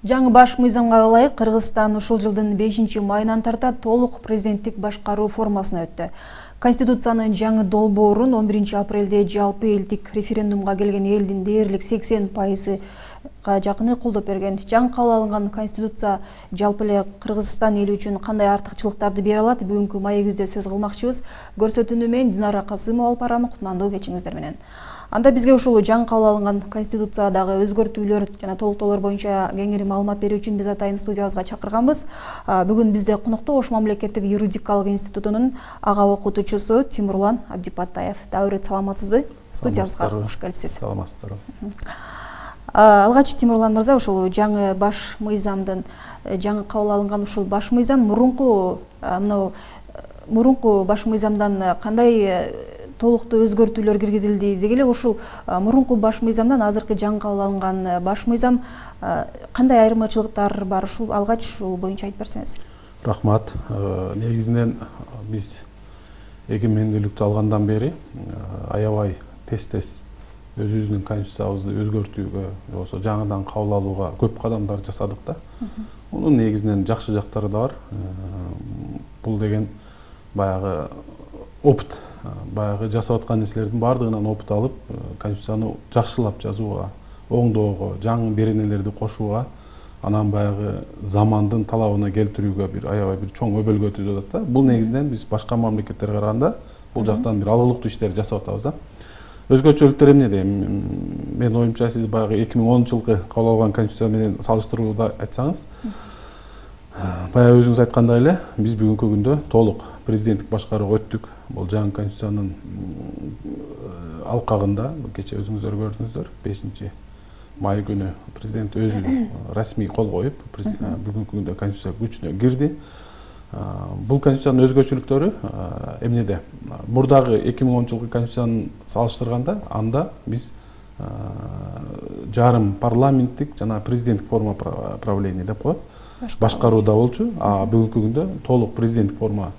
Жаңы баш мыйзамга ылайык Кыргызстан ушул жылдын 5-майынан тарта толук президенттик башкаруу формасына өттү. Конституциянын жаңы долбоорун 11-апрелде жалпы элдик референдумга келген элдин дээрлик 80%га жакыны колдоп берген. Жаңы кабыл алынган конституция жалпы эле Кыргызстан эли үчүн кандай артыкчылыктарды бере алат? Бүгүнкү маегибизде сөз кылмакчыбыз. Көрсөтүүнү мен Динара Касымова алып барам, кутмандуу кечиңиздер менен. Анда бизге ушул жаңы кабыл алынган конституциядагы өзгөртүүлөр жана толуктоолор боюнча кеңири маалымат берүү үчүн биз атайын студиябызга чакырганбыз. Бүгүн бизде конокто Ош мамлекеттик юридикалык институтунун ага окутуучусу Тимурлан Абдипатаев. Дагы саламатсызбы? Студиябызга кош келипсиз. Саламатсыздар. Алгач Тимурлан мырза, ушул жаңы баш мыйзамдын жаңы кабыл алынган ушул баш мыйзам мурунку баш мыйзамдан кандай толуктуу өзгөртүүлөр киргизилди деги эле ушул мурунку баш мыйзамдан азыркы жаңы кабыл алынган баш мыйзам кандай айырмачылыктар бар? Ушул алгач ушул боюнча айтып берсеңиз. Рахмат. Негизинен биз эгемендүүлүктү алгандан бери аябай тез өзүбүздүн конституциябызды өзгөртүүгө, болсо жаңыдан кабыл алууга көп кадамдар жасадык да. Мунун негизинен жакшы жактары да бар. Бул деген баягы опыт, баягы жасап аткан нерселердин баардыгынан опыт алып, конституцияны жакшылап жазууга, оңдоого, жаңы беренелерди кошууга, анан баягы замандын талабына келтирүүгө аябай бир чоң өбөлгө түзүп атат да. Бул негизинен биз башка мамлекеттерге караганда бул жактан бир алырлыктуу иштерди жасап атабыз да. Өзгөчөлүктөр эмнеде? Мен оюмча сиз баягы 2010-жылкы кабыл алган конституция менен салыштырууда айтсаңыз, баягы өзүңүз айткандай эле биз бүгүнкү күндө толук президенттик башкарууга өттүк. Бул жаңы конституциянын алкагында кече өзүңүздөр көрдүңүздөр, 5-май күнү президент өзү расмий кол коюп, бүгүнкү күндө конституция күчүнө кирди. Бул конституциянын өзгөчөлүктөрү эмнеде? Мурдагы 2010-жылкы конституцияны салыштырганда анда биз жарым парламенттик жана президенттик форма правления деп коет. Башкарууда болчу, а бүгүнкү күндө толук президенттик форма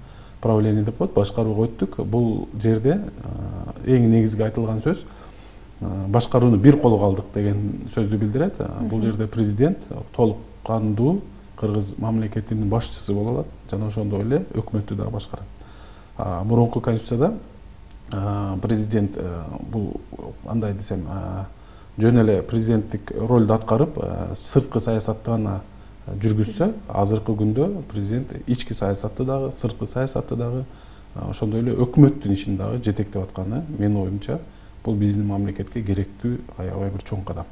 правление деп коет, башкарууга өттүк. Бул жерде эң негизги айтылган сөз башкарууну бир колго алдык деген сөздү билдирет. Бул жерде президент толук кандуу Кыргыз мамлекетинин башчысы боло алат жана ошондой эле өкмөттү да башкарат. Мурунку конституцияда президент бул андай десем, жөн эле президенттик ролду аткарып, сырткы саясатты гана жүргүзсө, азыркы күндө президент ички саясатты дагы, сырткы саясатты дагы, ошондой эле өкмөттүн ишин дагы жетектеп атканы менин оюмча бул биздин мамлекетке керектүү аябай бир чоң кадам.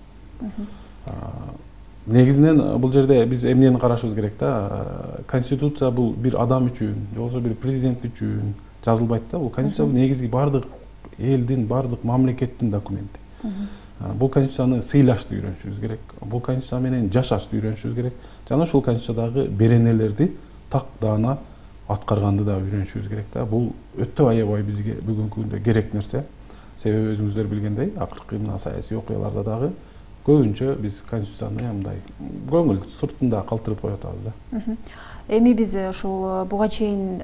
Негизинен бул жерде биз эмнени карашыбыз керек да? Конституция бул бир адам үчүн, же болбосо бир президент үчүн жазылбайт да. Бул конституция негизги бардык элдин, бардык мамлекеттин документи. Бул конституцияны сыйлашты үйрөнүшүбүз керек. Бул конституция менен жашашты үйрөнүшүбүз керек. Жана ушул конституциядагы беренелерди так даана аткарганды да үйрөнүшүбүз керек да. Бул өтө аябай бизге бүгүнкү күндө керек нерсе. Себеби өзүңүздөр билгендей, акыркы мына саясий окуяларда дагы көбүнчө биз конституцияны мындай көңүл сыртында калтырып коюп атабыз да. Эми биз ушул буга чейин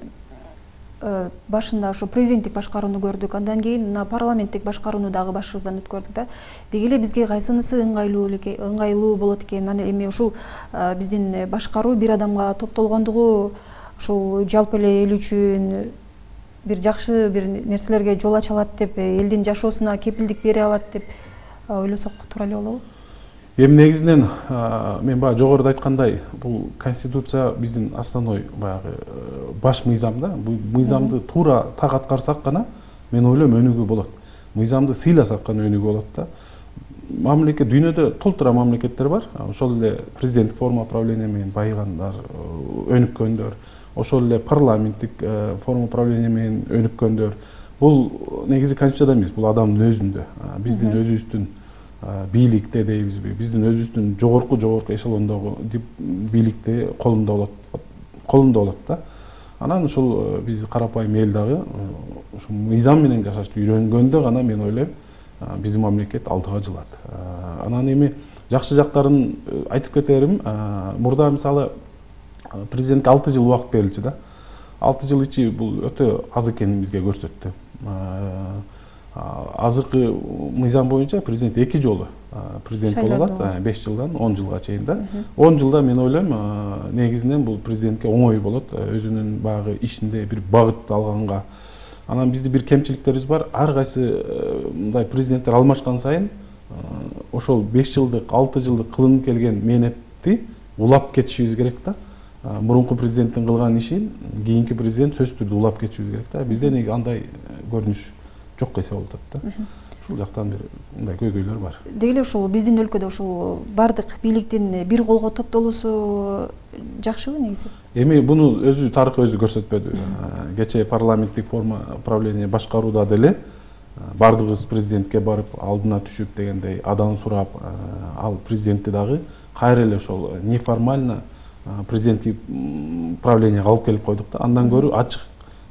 башында ушу президенттик башкарууну көрдүк, андан кийин парламенттик башкарууну дагы башыбыздан өткөрдүк да. Деги эле бизге кайсынысы ыңгайлуу болот экен? Анан эми ушул биздин башкаруу бир адамга топтолгондугу ушул жалпы эле эл үчүн бир жакшы бир нерселерге жол ача алат деп, элдин жашоосуна кепилдик бере алат деп ойлосок туура эле болобу? Эми негизинен мен баягы жогоруда айткандай, бул конституция биздин основной баягы баш мыйзам да. Бул мыйзамды туура так аткарсак гана мен ойлойм өнүгүү болот. Мыйзамды сыйласак гана өнүгүү болот да. Мамлекет дүйнөдө толтура мамлекеттер бар. Ошол эле президенттик форма правления менен байыгандар, өнүккөндөр, ошол эле парламенттик форма правления менен өнүккөндөр. Бул негизи конституцияда эмес, бул адамдын өзүндө. Биздин өзүбүздүн бийликте дейбизби, биздин өзүбүздүн жогорку эшелондогу бийликте колунда болот да. Анан ушул биз карапайым эл дагы ушул мыйзам менен жашашты үйрөнгөндө гана мен ойлойм биздин мамлекет алдыга жылат. Анан эми жакшы жактарын айтып кетерим. Мурда мисалы президентке 6 жыл убакыт берилчү да. 6 жыл ичи бул өтө аз экенин бизге көрсөттү. Азыркы мыйзам боюнча президент 2 жолу президент болуп атат 5 жылдан 10 жылга чейин да. 10 жылда мен ойлойм негизинен бул президентке оңой болот, өзүнүн багы ишинде бир багыт алганга. Анан бизде бир кемчиликтерибиз бар. Ар кайсы мындай президенттер алмашкан сайын ошол 5 жылдык, 6 жылдык кылынып келген мээнетти улап кетишибиз керек да. Мурунку президенттин кылган ишин кийинки президент сөзсүз түрдө улап кетишибиз керек да. Бизде неге андай көрүнүш жок эсе болуп атат да. Ушул жактан бир мындай көйгөйлөр бар. Деги эле ушул биздин өлкөдө ушул бардык бийликтин бир колго топтолуусу жакшыбы негизи? Эми буну өзү тарых өзү көрсөтпөдү. Кечээ парламенттик форма управление башкарууда деле бардыгыбыз президентке барып алдына түшүп дегендей адан сурап, ал президентти дагы кайра эле ошол неформально президенттик управленияга алып келип койдук да. Андан көрү ачык,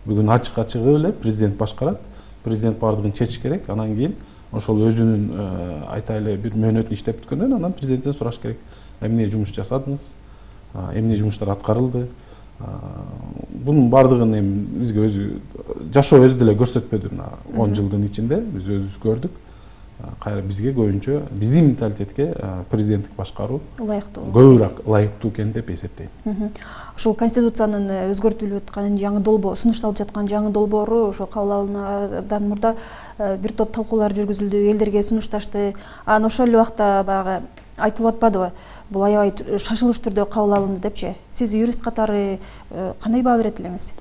бүгүн ачык-ачыгы эле президент башкарат. Президент бардыгын чечиш керек. Анан кийин ошол өзүнүн айтайлы бир мөөнөтүн иштеп бүткөндөн анан президенттен сураш керек. Эмне жумуш жасадыңыз? Эмне жумуштар аткарылды? Бунун бардыгын эми бизге өзү жашоо өзү деле көрсөтпөдү. 10 жылдын ичинде биз өзүбүз көрдүк. Кайра бизге көбүнчө биздин менталитетке президенттик башкаруу ылайыктуу, көбүрөөк ылайыктуу экен деп эсептейм. Ушул конституциянын өзгөртүлүп аткан жаңы долбоор, сунушталып жаткан жаңы долбоору ошо кабыл алынуудан мурда бир топ талкуулар жүргүзүлдү, элдерге сунушташты. Анан ошол эле убакта баягы айтылып атпадыбы? Бул аябай шашылыш түрдө кабыл алынды депчи. Сиз юрист катары кандай баа берет элеңиз?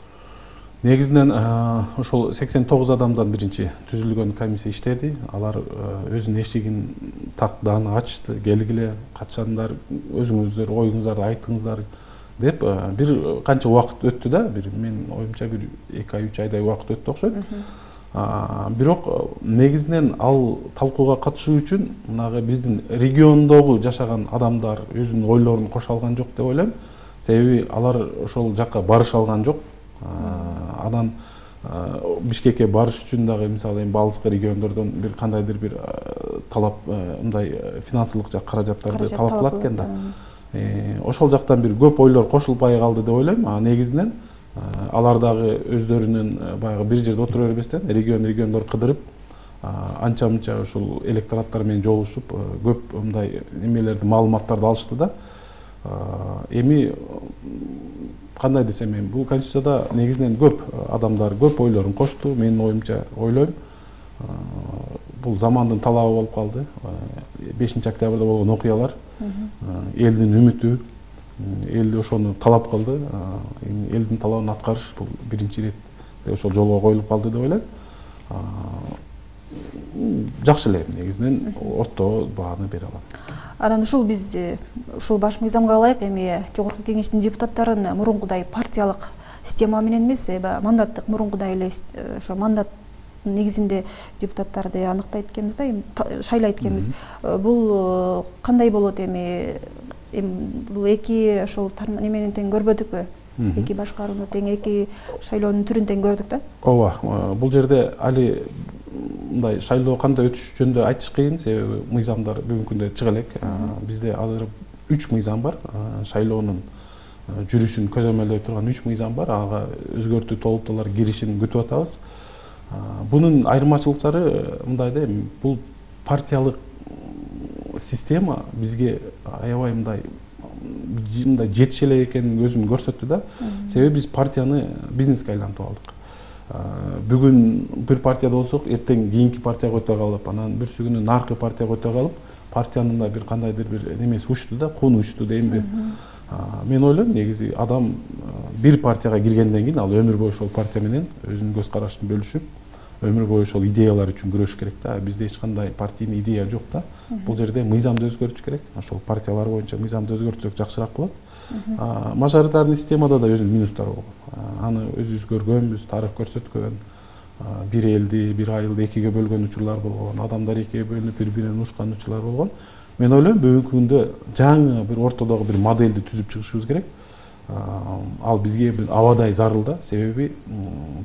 Негизинен ошол 89 адамдан биринчи түзүлгөн комиссия иштеди. Алар өзүнүн эшигин тактааны ачты, келгиле, качандар өзүңүздөр оюңуздарды айтыңыздар деп бир канча убакыт өттү да. Мен оюмча бир 2 ай 3 айдай убакыт өттү окшойт. Бирок негизинен ал талкууга катышуу үчүн мынагы биздин региондогу жашаган адамдар өзүнүн ойлорун кошо алган жок деп ойлойм. Себеби алар ошол жакка барыша алган жок. Анан Бишкекке барыш үчүн дагы мисалы эми алыскы региондордон бир кандайдыр бир талап мындай финансылык жак каражаттарды талап кылат экен да. Ошол жактан бир көп ойлор кошулбай калды деп ойлойм. Негизинен алар дагы өздөрүнүн баягы бир жерде отура бербестен региондор кыдырып анча-мынча ушул электораттар менен жолугушуп көп мындай немелерди маалыматтарды алышты да. Эми кандай десем эми бул конституцияда негизинен көп адамдар көп ойлорун кошту. Менин оюмча ойлойм. Бул замандын талабы болуп калды. 5-октябрда болгон окуялар элдин үмүтү, элди ошону талап кылды. Элдин талабын аткарыш бул биринчи ирет ошол жолго коюлуп калды деп ойлойм. Жакшы эле негизинен орто бааны бере алам. Анан ушул биз ушул баш мыйзамга ылайык эми жогорку кеңештин депутаттарын мурункудай партиялык система менен эмес, мандаттык мурункудай эле ошо мандат негизинде депутаттарды аныктайт экенбиз да, шайлайт экенбиз. Бул кандай болот эми? Бул эки ошол неменен тең көрбөдүкпү? Эки башкарууну тең, эки шайлоонун түрүн тең көрдүк да? Ооба, бул жерде али мындай шайлоо кандай өтүш жөнүндө айтыш кыйын, себеби мыйзамдар бүгүнкү күндө чыга элек. Бизде азыр 3 мыйзам бар. Шайлоонун жүрүшүн көзөмөлдөй турган 3 мыйзам бар. Ага өзгөртүү толуктуулар киришин күтүп атабыз. Бунун айырмачылыктары мындай да, бул партиялык система бизге аябай мындай жетише элек экенин өзүн көрсөттү да. Себеби биз партияны бизнеске айлантып алдык. Бүгүн бир партияда болсок, эртең кийинки партияга өтө калып, анан бүрсү күнү наркы партияга өтө калып, партиянын да бир кандайдыр бир немеси учту да, кууну учту деймби. Мен ойлойм, негизи адам бир партияга киргенден кийин ал өмүр бою ошол партия менен өзүнүн көз карашын бөлүшүп, өмүр бою ошол идеялар үчүн күрөшүш керек да. Бизде эч кандай партийный идея жок да. Бул жерде мыйзамды өзгөртүш керек. Ошол партиялар боюнча мыйзамды өзгөртсөк жакшыраак болот. Мажоритарный системада да өзүнүн минустары болгон. Аны өзүбүз көргөнбүз, тарых көрсөткөн. Бир элди, бир айылды экиге бөлгөн учурлар болгон, адамдар экиге бөлүнүп бири-биринен ушкан учурлар болгон. Мен ойлойм, бүгүнкү күндө жаңы бир ортодогу бир модельди түзүп чыгышыбыз керек. Ал бизге бир абадай зарыл да, себеби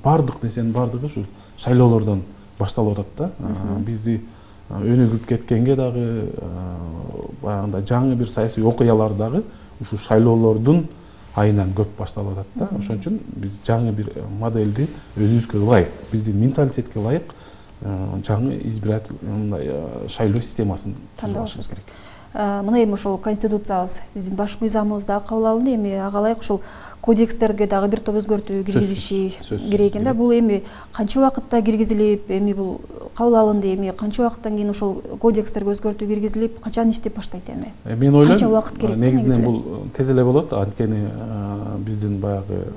бардык нерсенин бардыгы ушул шайлоолордон башталып атат да. Бизди өнүгүп кеткенге дагы баягындай жаңы бир саясий окуялар дагы ушул шайлоолордун айынан көп башталып атат да. Ошон үчүн биз жаңы бир модельди өзүбүзгө ылайык, биздин менталитетке ылайык жаңы избирательный шайлоо системасын түзүп керек. Мына эми ошол конституциябыз биздин баш мыйзамыбызда кабыл алынды, эми ага ылайык ушул кодекстерге дагы бир топ өзгөртүү киргизиши керек экен да. Бул эми канча убакытта киргизилип, эми бул кабыл алынды, эми канча убакыттан кийин ошол кодекстерге өзгөртүү киргизилип, качан иштеп баштайт эми? Мен ойлойм, канча убакыт керек? Негизинен бул тез эле болот, анткени биздин баягы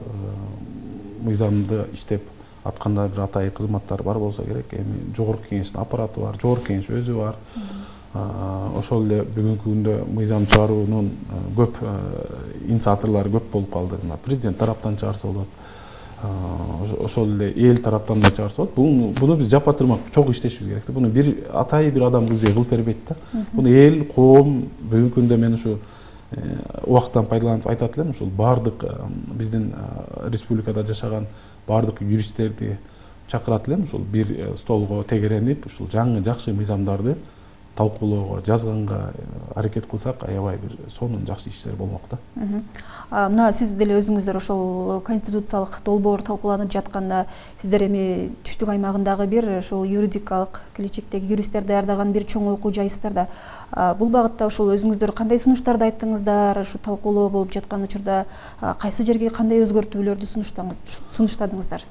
мыйзамды иштеп атканда бир атайын кызматтар бар болсо керек. Эми жогорку кеңештин аппараты бар, жогорку кеңеш өзү бар. Ошол эле бүгүнкү күндө мыйзам чыгаруунун көп инициаторлору көп болуп калды. Президент тараптан чыгарса болот, ошол эле эл тараптан да чыгарса болот. Буну биз жапа-тырмак чогуу иштешибиз керек. Буну бир атайын бир адам кылып бербейт да. Буну эл, коом бүгүнкү күндө мен ушу убакыттан пайдаланып айтат элем, ушул баардык биздин республикада жашаган баардык юристтерди чакырат элем, ушул бир столго тегеренип, ушул жаңы жакшы мыйзамдарды талкуулоого, жазганга аракет кылсак, аябай бир сонун жакшы иштер болмок да. Мына сиз деле өзүңүздөр ошол конституциялык долбоор талкууланып жатканда, сиздер эми түштүк аймагындагы бир ошол юридикалык келечектеги юристтер даярдаган бир чоң окуу жайсыздар да. Бул багытта ошол өзүңүздөр кандай сунуштарды айттыңыздар, ушу талкуулоо болуп жаткан учурда кайсы жерге кандай өзгөртүүлөрдү сунуштадыңыздар?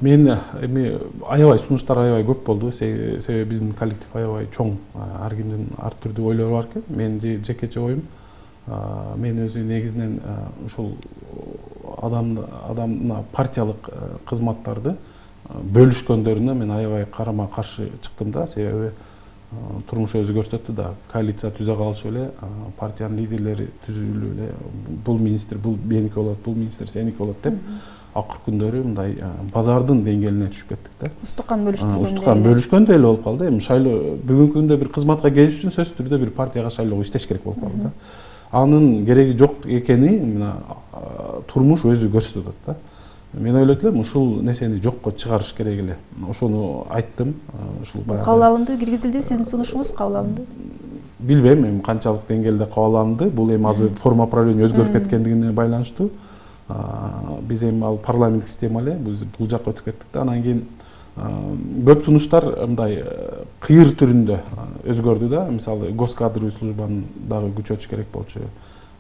Мен эми аябай сунуштар аябай көп болду, себеби биздин коллектив аябай чоң, ар кимдин ар түрдүү ойлору бар экен. Мен жекече оюм, мен өзү негизинен ушул адамна партиялык кызматтарды бөлүшкөндөрүнө мен аябай карама каршы чыктым да, себеби турмуш өзү көрсөттү да, коалиция түзө калышып эле партиянын лидерлери түзүлүп эле бул министр бул меники болот, бул министр сеники болот деп акыркы күндөрү мындай базардын деңгээлине түшүп кеттик да. Устукан бөлүштүргөндөй. Устукан бөлүшкөндөй эле болуп калды. Эми шайлоо бүгүнкү күндө бир кызматка келиш үчүн сөзсүз түрдө бир партияга шайлоого иштеш керек болуп калды да. Анын кереги жок экени мына турмуш өзү көрсөтөт да. Мен ойлойт элем, ушул нерсени жокко чыгарыш керек эле. Ошону айттым. Ушул баягы кабыл алынды, киргизилдиби? Сиздин сунушуңуз кабыл алынды? Билбейм, эми канчалык деңгээлде кабыл алынды. Бул эми азыр форма правления өзгөрүп кеткендигине байланыштуу. Биз эми ал парламенттик система эле, биз бул жакка өтүп кеттик да. Анан кийин көп сунуштар мындай кыйыр түрүндө өзгөрдү да. Мисалы, госкадровый службаны дагы күчөтүш керек болчу.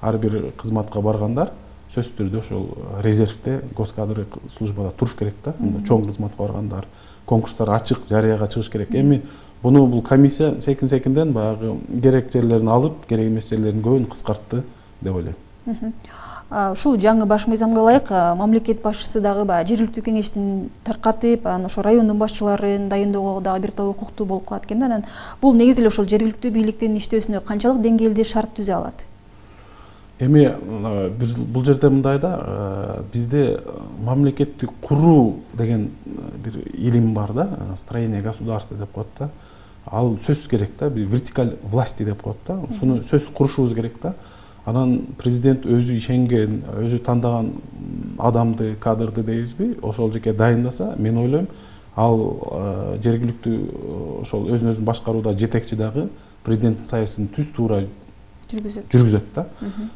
Ар бир кызматка баргандар сөзсүз түрдө ошол резервде госкадровый службада туруш керек да. Чоң кызматка баргандар, конкурстар ачык, жарыяга чыгыш керек. Эми буну бул комиссия секин-секинден баягы керек жерлерин алып, керек эмес жерлерин көбүн кыскартты деп ойлойм. Ушул жаңы баш мыйзамга ылайык мамлекет башчысы дагы баягы жергиликтүү кеңештин таркатып, анан ошо райондун башчыларын дайындоого дагы бир топ укуктуу болуп калат экен да. Анан бул негизи эле ошол жергиликтүү бийликтин иштөөсүнө канчалык деңгээлде шарт түзө алат? Эми бул жерде мындай да, бизде мамлекетти куруу деген бир илим бар да, строение государства деп коет да. Ал сөзсүз керек да, бир вертикаль власти деп коет да. Ушуну сөзсүз курушубуз керек да. Анан президент өзү ишенген, өзү тандаган адамды, кадрды дейбизби, ошол жеке дайындаса, мен ойлойм, ал жергиликтүү ошол өзүн башкарууда жетекчи дагы президенттин саясатын түз туура жүргүзөт да.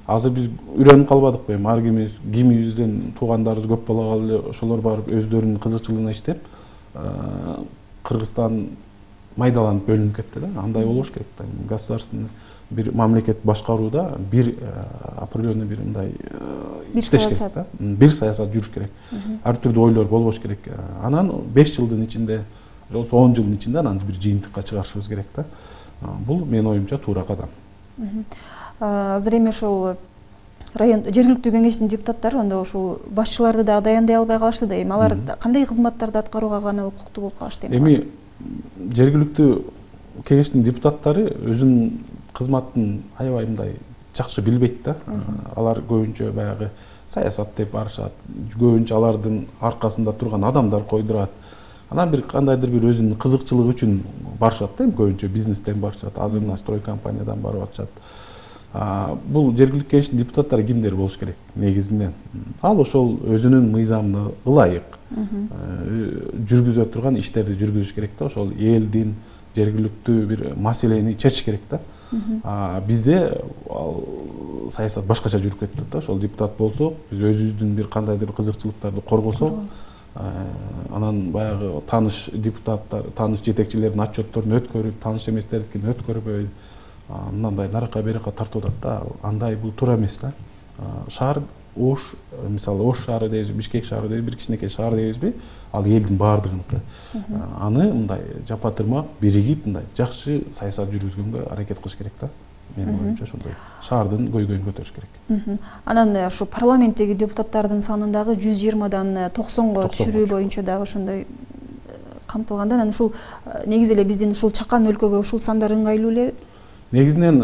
Азыр биз үйрөнүп калбадыкпы, эми ар кимибизден туугандарыбыз көп боло калып эле ошолор барып өздөрүнүн кызыкчылыгына иштеп, Кыргызстан майдаланып бөлүнүп кетти да. Андай болбош керек да. Государственный бир мамлекет башкарууда бир определенный бир мындай иштеш керек да. Бир саясат жүрүш керек. Ар түрдүү ойлор болбош керек. Анан 5 жылдын ичинде, же 10 жылдын ичинде анан бир жыйынтыкка чыгарышыбыз керек да. Бул менин оюмча туура кадам. Азыр эми ошол район жергиликтүү кеңештин депутаттары анда ошол башчыларды дагы даяндай албай калышты да. Эми алар кандай кызматтарды аткарууга гана укуктуу болуп калышты эми? Эми жергиликтүү кеңештин депутаттары өзүнүн кызматын аябай мындай жакшы билбейт да. Алар көбүнчө баягы саясат деп барышат. Көбүнчө алардын аркасында турган адамдар койдурат. Анан бир кандайдыр бир өзүнүн кызыкчылыгы үчүн барышат да, көбүнчө бизнестен барышат, азыр мына строй компаниядан барып атышат. Бул жергиликтүү кеңештин депутаттары кимдер болуш керек негизинен? Ал ошол өзүнүн мыйзамына ылайык жүргүзө турган иштерди жүргүзүш керек да, ошол элдин жергиликтүү бир маселени чечиш керек да. Бизде саясат башкача жүрүп кетти да. Ошол депутат болсок, биз өзүбүздүн бир кандайдыр кызыкчылыктарды коргосок, Анан баягы тааныш депутаттар, тааныш жетекчилердин отчетторун өткөрүп, тааныш эместердикин өткөрбөй, мындай наракка беракка тартып атат да. Андай бул туура эмес да. Шаар Ош, мисалы Ош шаары дейбиз, Бишкек шаары дейбиз, бир кичинекей шаар дейбизби? Ал элдин баардыгыныкы. Аны мындай жапа-тырмак биригип, мындай жакшы саясат жүргүзгөнгө аракет кылыш керек да. Менин оюмча ошондой. Шаардын көйгөйүн көтөрүш керек. Анан ушу парламенттеги депутаттардын санын дагы 120дан 90го түшүрүү боюнча дагы ошондой камтылган да. Анан ушул негизи эле биздин ушул чакан өлкөгө ушул сандар ыңгайлуу эле. Негизинен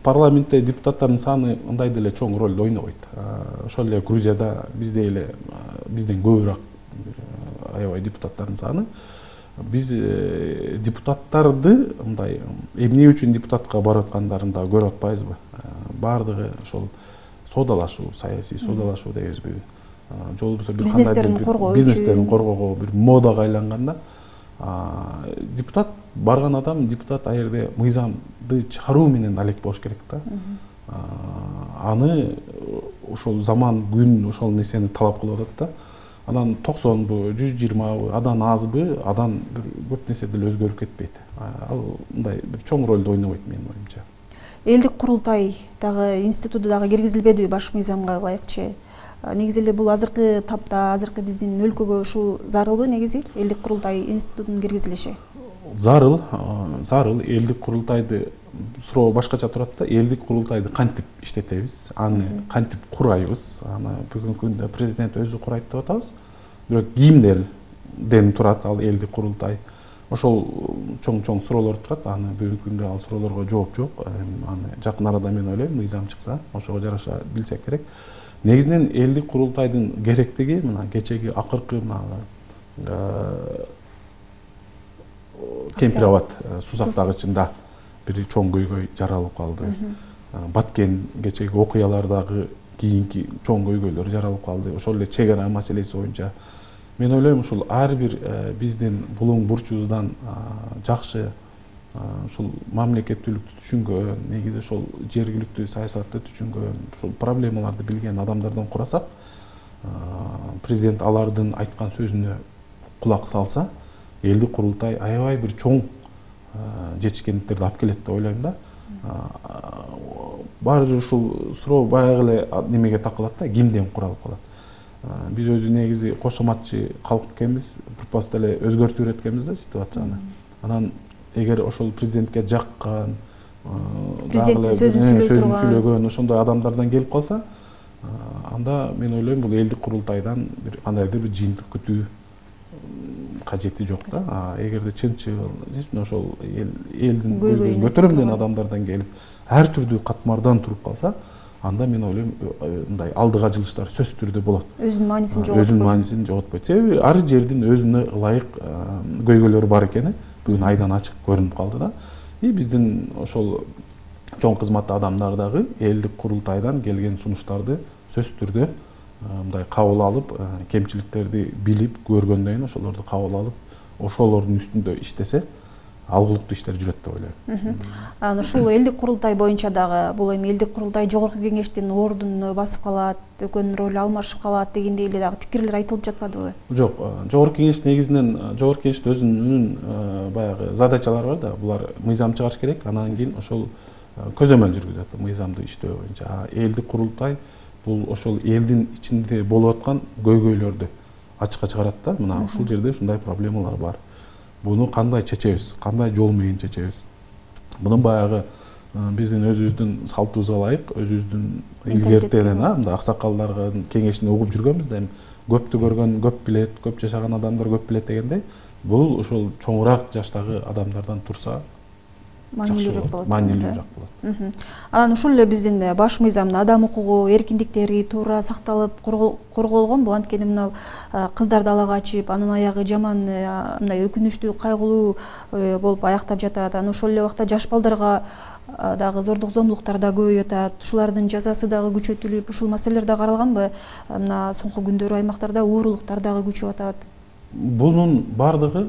парламентте депутаттардын саны андай деле чоң роль ойнобойт. Ошол эле Грузияда биздей эле бизден көбүрөөк аябай депутаттардын саны. Биз депутаттарды мындай эмне үчүн депутатка барып аткандарын да көрүп атпайбызбы? Бардыгы ошол соодалашуу, саясий соодалашуу дейбизби? Же болбосо бир кандай бизнестерин коргоого бир модага айланганда, депутат барган адам, депутат а жерде мыйзамды чыгаруу менен алек болуш керек да. Аны ошол заман күн ошол нерсени талап кылып атат да. Анан 90бы, 120бы, адан азбы, адан бир көп нерсе деле өзгөрүп кетпейт. Ал мындай бир чоң ролду ойнобойт менин оюмча. Элдик курултай дагы институту дагы киргизилбедиби баш мыйзамга ылайыкчы? Негизи эле бул азыркы тапта, азыркы биздин өлкөгө ушул зарылбы негизи элдик курултай институтунун киргизилиши? Зарыл элдик курултайды суроо башкача турат да. Элдик курултайды кантип иштетебиз, аны кантип курайбыз? Аны бүгүнкү күндө президент өзү курайт деп атабыз. Бирок кимдерден турат ал элдик курултай? Ошол чоң суроолор турат. Аны бүгүнкү күндө ал суроолорго жооп жок. Аны жакын арада мен ойлойм, мыйзам чыкса, ошого жараша билсек керек. Негизинен элдик курултайдын керектиги мына кечеги акыркы Кемпир Абад суу сактагычында бир чоң көйгөй жаралып калды. Баткен кечеги окуялардагы кийинки чоң көйгөйлөр жаралып калды. Ошол эле чек ара маселеси боюнча мен ойлойм ушул ар бир биздин булуң бурчубуздан жакшы ушул мамлекеттүүлүктү түшүнгөн, негизи ошол жергиликтүү саясатты түшүнгөн, ушул проблемаларды билген адамдардан курасак, президент алардын айткан сөзүнө кулак салса, элдик курултай аябай бир чоң жетишкендиктерди алып келет деп ойлойм да. Баары ушул суроо баягы эле немеге такылат да, кимден куралып калат. Биз өзү негизи кошоматчы калк экенбиз, бирпасса эле өзгөртүп эткенбиз да ситуацияны. Анан эгер ошол президентке жаккан, президенттин сөзүн сүйлөгөн ошондой адамдардан келип калса, анда мен ойлойм бул элдик курултайдан бир кандайдыр бир жыйынтык күтүү кажети жок да. Эгерде чынчыл, ошол элдин көйгөйүн көтөрөм деген адамдардан келип, ар түрдүү катмардан туруп калса, анда мен ойлойм мындай алдыга жылыштар сөзсүз түрдө болот. Өзүнүн маанисин жоготпойт. Себеби ар жердин өзүнө ылайык көйгөйлөрү бар экени бүгүн айдан ачык көрүнүп калды да. Биздин ошол чоң кызматтуу адамдар дагы элдик курултайдан келген сунуштарды сөзсүз түрдө мындай кабыл алып, кемчиликтерди билип көргөндөн кийин ошолорду кабыл алып, ошолордун үстүндө иштесе, алгылыктуу иштер жүрөт деп ойлойм. Анан ушул элдик курултай боюнча дагы бул эми элдик курултай жогорку кеңештин ордуну басып калат, өкөнүн ролу алмашып калат дегендей эле дагы пикирлер айтылып жатпадыбы? Жок, жогорку кеңеш негизинен жогорку кеңештин өзүнүн баягы задачалары бар да, булар мыйзам чыгарыш керек, анан кийин ошол көзөмөл жүргүзөт мыйзамды иштөө боюнча. Элдик курултай бул ошол элдин ичинде болуп аткан көйгөйлөрдү ачыкка чыгарат да. Мына ушул жерде ушундай проблемалар бар. Буну кандай чечебиз, кандай жол менен чечебиз? Мунун баягы биздин өзүбүздүн салтыбызга ылайык, өзүбүздүн илгертен мындай аксакалдардын кеңешин угуп жүргөнбүз да, көптү көргөн көп билет, көп жашаган адамдар көп билет дегендей, бул ошол чоңураак жаштагы адамдардан турса маанилүүрөөк болот. Анан ушул эле биздин баш мыйзамда адам укугу, эркиндиктери туура сакталып, корголгонбу? Анткени мына кыздар далага чыгып, анын аягы жаман, мындай өкүнүчтүү, кайгылуу болуп аяктап жатат. Анан ошол эле убакта жаш балдарга дагы зордук зомбулуктар да көбөйүп атат. Ушулардын жазасы дагы күчөтүлүп, ушул маселелер да каралганбы? Мына соңку күндөрү аймактарда оорулуктар дагы күчөп атат. Бунун бардыгы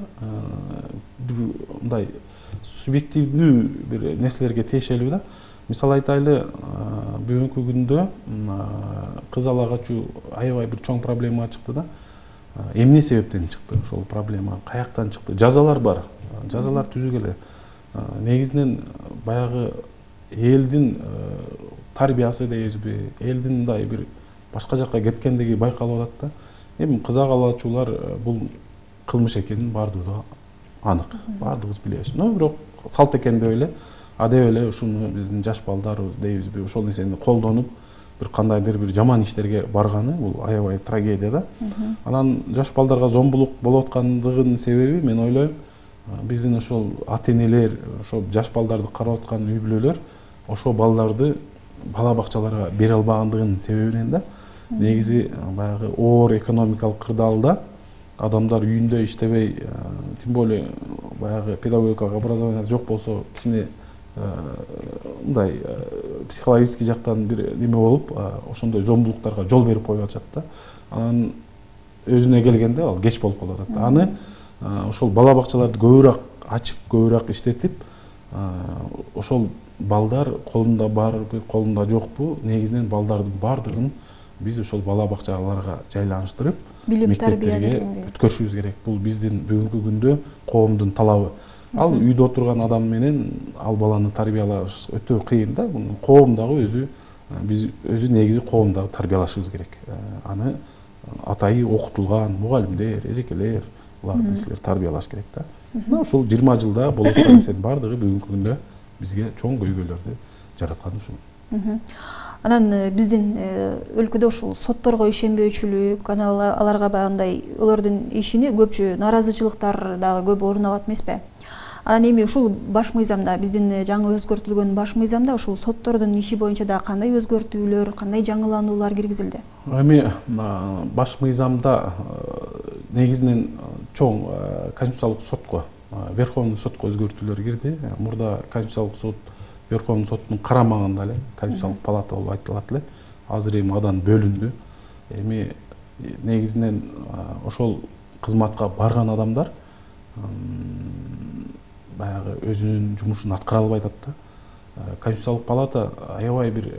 мындай субъективдүү бир нерселерге тиешелүү да. Мисалы айтайлы, бүгүнкү күндө кыз ала качуу аябай бир чоң проблема чыкты да. эмне себептен чыкты ошол проблема, каяктан чыкты? Жазалар бар, жазалар түзүгеле. Негизинен баягы элдин тарбиясы дейбизби, элдин мындай бир башка жакка кеткендиги байкалып атат да. Эми кызак алуучулар бул кылмыш экенин бардыгы анык, бардыгыбыз билебиз. Но бирок салт экен деп эле, деп эле ушуну биздин жаш балдарыбыз дейбизби, ошол нерсени колдонуп бир кандайдыр бир жаман иштерге барганы бул аябай трагедия да. Анан жаш балдарга зомбулук болуп аткандыгынын себеби мен ойлойм, биздин ошол ата-энелер, ошол жаш балдарды карап аткан үй бүлөлөр ошол балдарды бала бакчаларга бере албагандыгынын себебинен да. Негизи баягы оор экономикалык кырдаалда адамдар үйүндө иштебей, тем более баягы педагогикалык образованиясы жок болсо, кичине мындай психологический жактан бир неме болуп, ошондой зомбулуктарга жол берип коюп атышат да. Анан өзүнө келгенде ал кеч болуп калып атат. Аны ошол бала бакчаларды көбүрөөк ачып, көбүрөөк иштетип, ошол балдар колунда барбы, колунда жокпу, негизинен балдардын бардыгын биз ошол бала бакчаларга жайланыштырып, билим тарбияга өткөрүшүбүз керек. Бул биздин бүгүнкү күндө коомдун талабы. Ал үйдө отурган адам менен ал баланы тарбиялаш өтө кыйын да. Коом дагы өзү, биз өзү негизи коом дагы тарбиялашыбыз керек. Аны атайы окутулган мугалимдер, эжекелер, буларды силер тарбиялаш керек да. Ушул 20 жылда болуп аткан нерсенин бардыгы бүгүнкү күндө бизге чоң көйгөйлөрдү жараткан ушул. Анан биздин өлкөдө ушул сотторго ишенбөөчүлүк, аларга баягындай олордун ишине көпчү наразычылыктар дагы көп орун алат эмеспи? Анан эми ушул баш мыйзамда, биздин жаңы өзгөртүлгөн баш мыйзамда ушул соттордун иши боюнча да кандай өзгөртүүлөр, кандай жаңылануулар киргизилди? Эми баш мыйзамда негизинен чоң конституциялык сотко, Верховный сотко өзгөртүүлөр кирди. Мурда конституциялык сот Верховный соттун карамагында эле конституциялык палата болуп айтылат эле. Азыр эми адан бөлүндү. Эми негизинен ошол кызматка барган адамдар баягы өзүнүн жумушун аткара албай атат да. Конституциялык палата аябай бир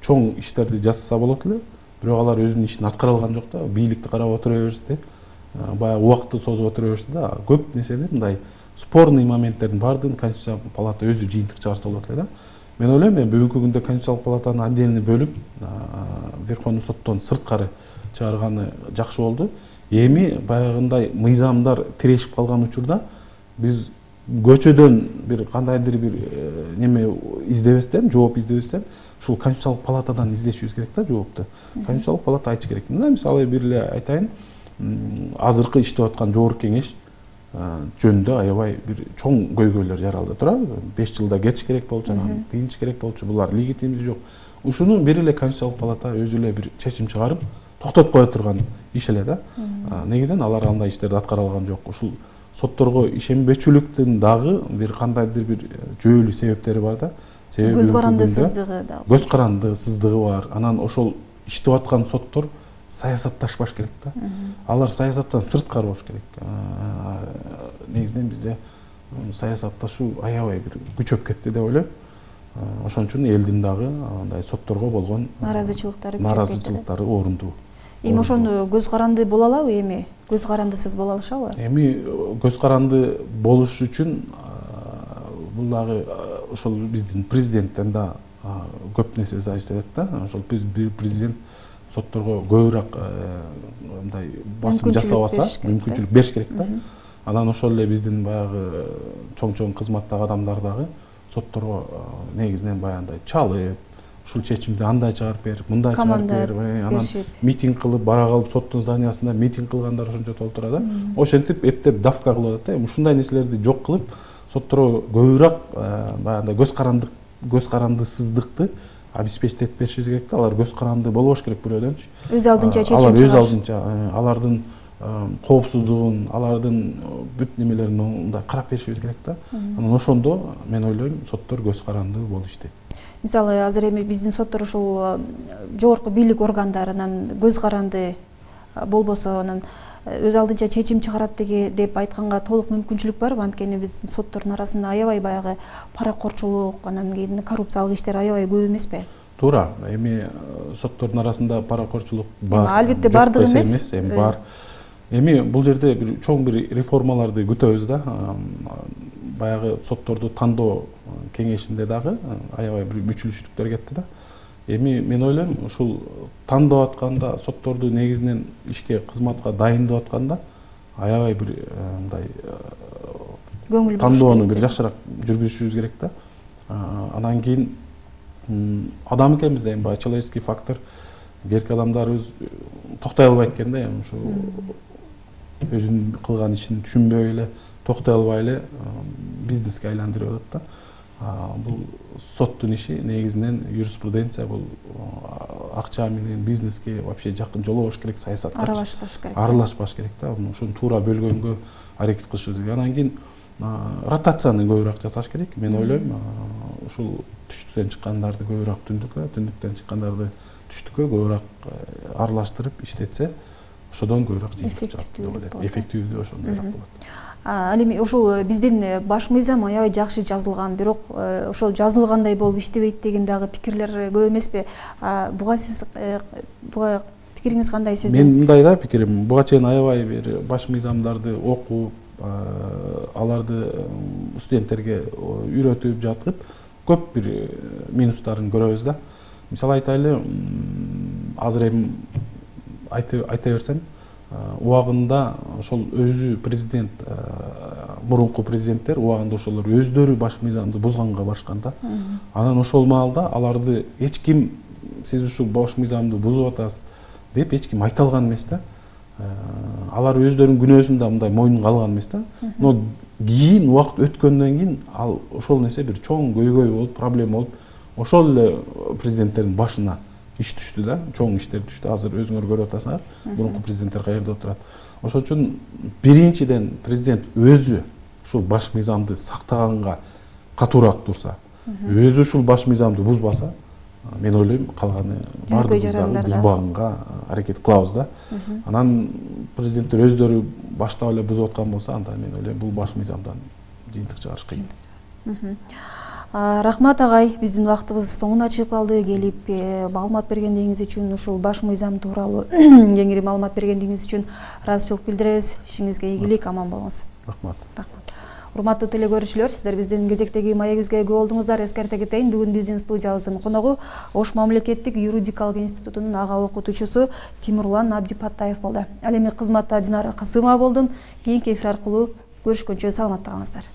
чоң иштерди жасаса болот эле, бирок алар өзүнүн ишин аткара алган жок да. Бийликти карап отура беришти, баягы убакытты созуп отура беришти да. Көп нерсени мындай спорный моменттердин баардыгын Конституциялык палата өзү жыйынтык чыгарса болот эле да. Мен ойлойм, бүгүнкү күндө Конституциялык палатаны отдельно бөлүп, Верховный соттон сырткары чыгарганы жакшы болду. Эми баягындай мыйзамдар тирешип калган учурда биз көчөдөн бир кандайдыр бир неме издебестен, жооп издебестен, ушул Конституциялык палатадан издешибиз керек да жоопту. Конституциялык палата айтыш керек. Мына мисалы бир эле айтайын, азыркы иштеп аткан жогорку кеңеш жөнүндө аябай бир чоң көйгөйлөр жаралды турабы. 5 жылда кетиш керек болчу, анан тыйыныш керек болчу. Булар легитимдүү жок. Ушуну бир эле Конституциялык палата өзү эле бир чечим чыгарып, токтотуп кое турган иш эле да. Негизинен алар андай иштерди аткара алган жок. Ушул сотторго ишенбечүлүктүн дагы бир кандайдыр бир жүйөлүү себептери бар да. Себеби көз карандысыздыгы да. Көз карандысыздыгы бар. Анан ошол иштеп аткан соттор саясатташпаш керек да. Алар саясаттан сырткары болуш керек. Негизинен бизде саясатташуу аябай бир күчөп кетти деп ойлойм. Ошон үчүн элдин дагы андай сотторго болгон наразычылыктары орундуу. Эми ошону көз каранды боло алабы эми? Көз карандысыз боло алышабы? Эми көз каранды болуш үчүн бул дагы ошол биздин президенттен да көп нерсе зависит этет да. Ошол президент сотторго көбүрөөк мындай басым жасабаса, мүмкүнчүлүк бериш керек да. Анан ошол эле биздин баягы чоң кызматтагы адамдар дагы сотторго негизинен баягындай чалып, ушул чечимди андай чыгарып бер, мындай чыгарып бер, анан митинг кылып, бара калып соттун зданиясында митинг кылгандар ошончо толтура да. Ошентип эптеп давка кылып атат да. Ушундай нерселерди жок кылып, сотторго көбүрөөк баягындай көз карандысыздыкты обеспечить беришибиз керек да. Алар көз каранды болбош керек бирөөдөнчү. Өз алдынча чечим чыгарат. Өз алдынча алардын коопсуздугун, алардын бүт немелерин мындай карап беришибиз керек да. Анан ошондо мен ойлойм, соттор көз каранды болуп иштейт. Мисалы азыр эми биздин соттор ушул жогорку бийлик органдарынан көз каранды болбосо, анан өз алдынча чечим чыгарат деп айтканга толук мүмкүнчүлүк барбы? Анткени биздин соттордун арасында аябай баягы паракорчулук, анан кийин коррупциялык иштер аябай көп эмеспи? Туура. Эми соттордун арасында паракорчулук бар. Албетте бардыгы эмес. Эми бар. Эми бул жерде бир чоң бир реформаларды күтөбүз да. Баягы сотторду тандоо кеңешинде дагы аябай бир мүчүлүштүктөр кетти да. Эми мен ойлойм ушул тандоо атканда сотторду негизинен ишке кызматка дайындап атканда аябай бир мындай көңүл тандоону бир жакшыраак жүргүзүшүбүз керек да. Анан кийин адам экенбиз да, эми баягы человеческий фактор, берки адамдарыбыз токтой албайт экен да, эми ушу өзүнүн кылган ишин түшүнбөй эле, токтой албай эле бизнеске айландырып атат да. Бул соттун иши негизинен юриспруденция, бул акча менен бизнеске вообще жакын жолобош керек, саясатка аралашпаш керек да. Ушуну туура бөлгөнгө аракет кылышыбыз керек. Анан кийин ротацияны көбүрөөк жасаш керек. Мен ойлойм, ушул түштүктөн чыккандарды көбүрөөк түндүккө, түндүктөн чыккандарды түштүккө көбүрөөк аралаштырып иштетсе, ошодон көбүрөөк эффективдүү ошондойраак болот. Ал эми ошол биздин баш мыйзам аябай жакшы жазылган, бирок ошол жазылгандай болуп иштебейт деген дагы пикирлер көп эмеспи? Буга сиз пикириңиз кандай сиздин? Мен мындай да пикирим, буга чейин аябай бир баш мыйзамдарды окуп, аларды студенттерге үйрөтүп жатып, көп бир минустарын көрөбүз да. Мисалы айтайлы, азыр эми айта берсем, убагында ошол өзү президент, мурунку президенттер убагында ошолор өздөрү баш мыйзамды бузганга барышкан да. Анан ошол маалда аларды эч ким сиз ушул баш мыйзамды бузуп атасыз деп эч ким айта алган эмес да. Алар өздөрүнүн күнөөсүн да мындай мойнуна алган эмес да. Но кийин убакыт өткөндөн кийин ал ошол нерсе бир чоң көйгөй болуп, проблема болуп, ошол эле президенттердин башына иш түштү да, чоң иштер түштү. Азыр өзүңөр көрүп атасыңар, мурунку президенттер каерде отурат. Ошол үчүн биринчиден президент өзү ушул баш мыйзамды сактаганга катуураак турса, өзү ушул баш мыйзамды бузбаса, мен ойлойм калганы баардыгыбыз дагы бузбаганга аракет кылабыз да. Анан президенттер өздөрү баштап эле бузуп аткан болсо, анда мен ойлойм бул баш мыйзамдан жыйынтык чыгарыш кыйын. Рахмат агай, биздин убактыбыз соңуна чыгып калды. Келип маалымат бергендигиңиз үчүн, ушул баш мыйзам тууралуу кеңири маалымат бергендигиңиз үчүн ыраазычылык билдиребиз. Ишиңизге ийгилик, аман болуңуз. Рахмат. Урматтуу теле-көрүүчүлөр, сиздер биздин кезектеги маегибизге күбө болдуңуздар. Эскерте кетейин, бүгүн биздин студиябыздын коногу Ош мамлекеттик юридикалык институтунун ага окутуучусу Тимурлан Абдипаттаев болду. Ал эми кызматта Динара Касымова болдум. Кийинки эфир аркылуу көрүшкөнчө саламатта калыңыздар.